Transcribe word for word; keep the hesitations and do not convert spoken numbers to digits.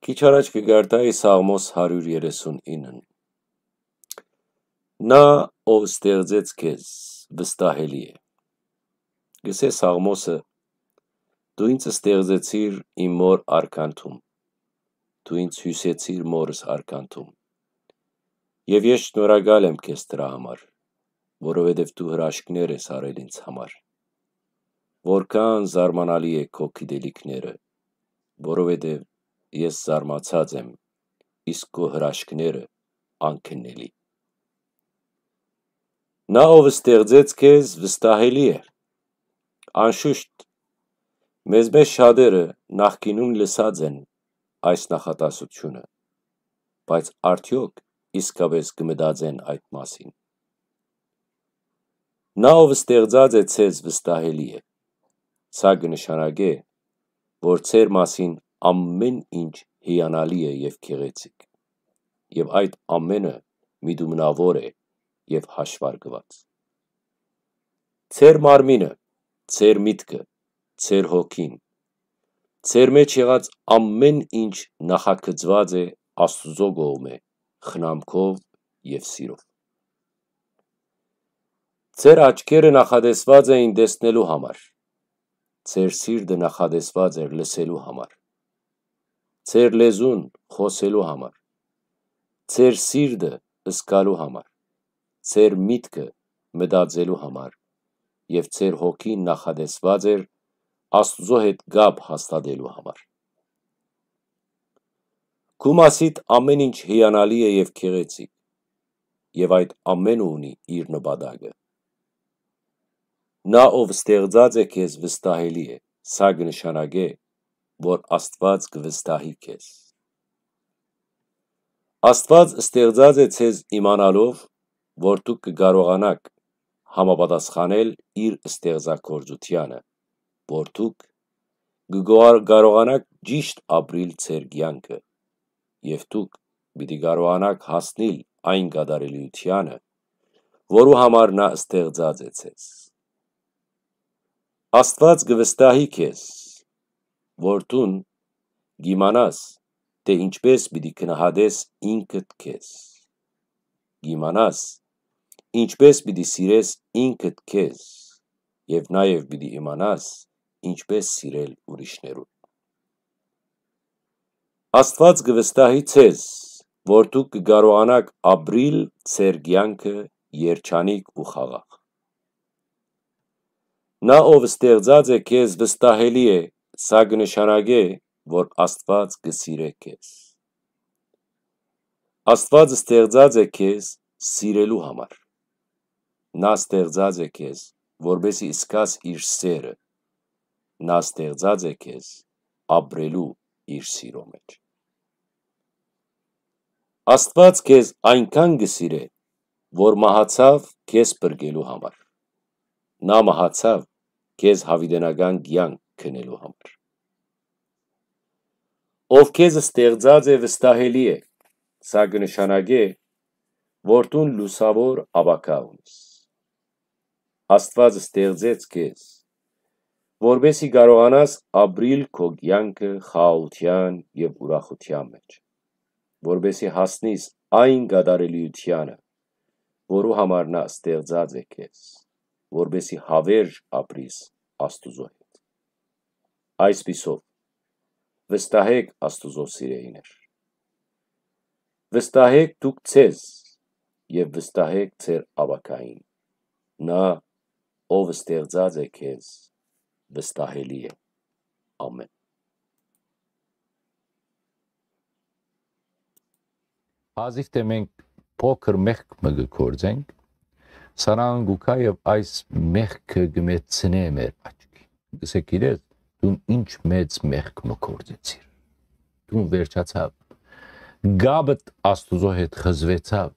Քիչ առաջ կը կարդայի Սաղմոս հարիւր երեսուն ինը։ Նա, ով ստեղծեց քեզ, վստահելի է։ Գսէ Սաղմոսը. «Դու ինձ ստեղծեցիր իմ մօր արքանթում, դու ինձ հիւսեցիր մօրս արքանթում։ Եւ ես շնորհակալ եմ քեզ դրա համար, որովհետեւ դու հրաշքներ ես արել ինձ համար։ Որքան զարմանալի է քո գիտելիքները, որովհետեւ ես զարմացած եմ, իսկ քո հրաշքները՝ անկրկնելի»։ Նա, ով ստեղծեց քեզ, վստահելի է։ Անշուշտ, մեզմէ շատերը նախկինում լսած են այս նախատասությունը, բայց արդեօք իսկապէս կը մտածեն այդ մասին։ Նա, ով ստեղծած է ձեզ, վստահելի է։ Սա կը նշանակէ, որ ձեր մասին ամէն ինչ հիանալի է եւ գեղեցիկ, եւ այդ ամէնը միտումնաւոր է եւ հաշուարկուած։ Ձեր մարմինը, ձեր միտքը, ձեր հոգին, ձեր մեջ եղած ամէն ինչ նախագծուած է Աստուծոյ կողմէ խնամքով եւ սիրով։ Ձեր աչքերը նախատեսված էին տեսնելու համար, ձեր սիրտը նախատեսված էր լսելու համար, ձեր լեզուն՝ խօսելու համար, ձեր սիրտը՝ զգալու համար, ձեր միտքը՝ մտածելու համար, եւ ձեր հոգին նախատեսված էր Աստուծոյ հետ կապ հաստատելու համար։ Քու մասիդ ամէն ինչ հիանալի է եւ գեղեցիկ, եւ այդ ամէնը ունի իր նպատակը։ Նա, ով ստեղծած է քեզ, վստահելի է, սա կը նշանակէ, որ Աստուած կը վստահի քեզ։ Աստուած ստեղծած է ձեզ իմանալով, որ դուք կը կարողանաք համապատասխանել իր ստեղծագործությանը, որ դուք կը գոհար-, կարողանաք ճիշտ ապրիլ ձեր կեանքը, եւ դուք պիտի կարողանաք հասնիլ այն կատարելիությանը, որու համար նա ստեղծած է ձեզ։ Աստուած կը վստահի քեզ, որ դուն կ'իմանաս, թէ ինչպէս պիտի գնահատես ինքդ քեզ։ Կ'իմանաս, ինչպէս պիտի սիրես ինքդ քեզ, եւ նաեւ պիտի իմանաս, ինչպէս սիրել ուրիշներուն։ Աստուած կը վստահի ձեզ, որ դուք կը կարողանաք ապրիլ ձեր կեանքը երջանիկ ու խաղաղ։ Նա, ով ստեղծած է քեզ, վստահելի է, սա կը նշանակէ, որ Աստուած կը սիրէ քեզ։ Աստուած ստեղծած է քեզ սիրելու համար։ Նա ստեղծած է քեզ, որպեսզի զգաս իր սերը։ Նա ստեղծած է քեզ ապրելու իր սիրո մեջ։ Աստուած քեզ այնքան կը սիրէ, որ մահացաւ քեզ փրկելու համար։ Նա մահացաւ քեզ յաւիտենական կեանք գնելու համար։ Ով քեզ ստեղծած է, վստահելի է, սա կը նշանակէ, որ դուն լուսաւոր ապագայ ունիս։ Աստուած ստեղծեց քեզ, որպեսզի կարողանաս ապրիլ քո կեանքը խաղաղութեան եւ ուրախութեան մեջ, որպեսզի հասնիս այն կատարելիությանը, որու համար նա ստեղծած է քեզ, որպեսզի հաւերժ ապրիս Աստուծոյ հետ։ Այսպիսով, վստահէք Աստուծոյ սիրելիներ։ Վստահէք դուք ձեզ եւ վստահէք ձեր ապագային։ Նա, ով ստեղծած է քեզ, վստահելի է։ Ամէն։ Հազիվ թէ մենք փոքր մեղք մը կը գործենք, սատանան կու գայ եւ այս մեղքը կը մեծցնէ մեր աչքին։ Կ'ըսէ, գիտես, դուն ինչ մեծ մեղք մը գործեցիր։ Դուն վերջացաւ։ Կապդ Աստուծոյ հետ խզուեցաւ,